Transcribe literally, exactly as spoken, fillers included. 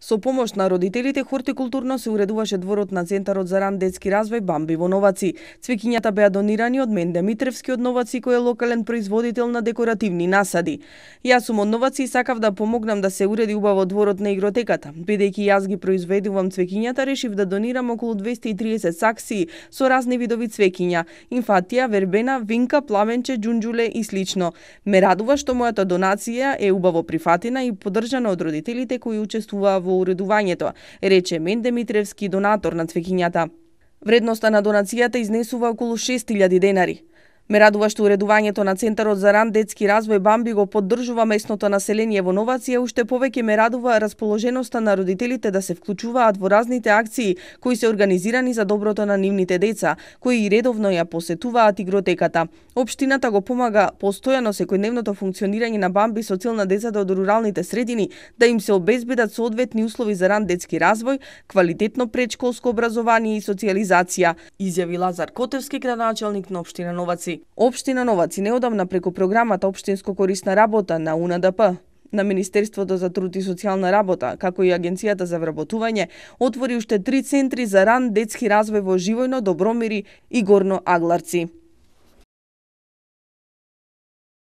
Со помош на родителите, хортикултурно се уредуваше дворот на Центарот за ран детски развој Бамби во Новаци. Цвеќињата беа донирани од Менде Митревски од Новаци, кој е локален производител на декоративни насади. Јас сум од Новаци и сакав да помогнам да се уреди убаво дворот на игротеката. Бидејќи јас ги произведувам цвеќињата, решив да донирам околу двесте и триесет саксии со разни видови цвеќиња: инфатија, вербена, винка, пламенче, џунџуле и слично. Ме радува што мојата донација е убаво прифатена и поддржана од родителите кои учествуваа во уредувањето, рече Менде Митревски, донатор на цвеќињата. Вредноста на донацијата изнесува околу шест илјади денари. Ме радува што уредувањето на Центарот за ран детски развој Бамби го поддржува местното население во Новаци, а уште повеќе ме радува расположеноста на родителите да се вклучуваат во разните акции кои се организирани за доброто на нивните деца, кои и редовно ја посетуваат игротеката. Општината го помага постојано секојдневното функционирање на Бамби со цел на децата од руралните средини да им се обезбедат соодветни услови за ран детски развој, квалитетно претшколско образование и социјализација, изјави Лазар Котевски, градоначелник на општина Новаци. Општина Новаци неодамна преку програмата Општинско корисна работа на У Н Д П, на Министерството за труд и социјална работа, како и Агенцијата за вработување, отвори уште три центри за ран детски развој во Живојно, Добромири и Горно Агларци.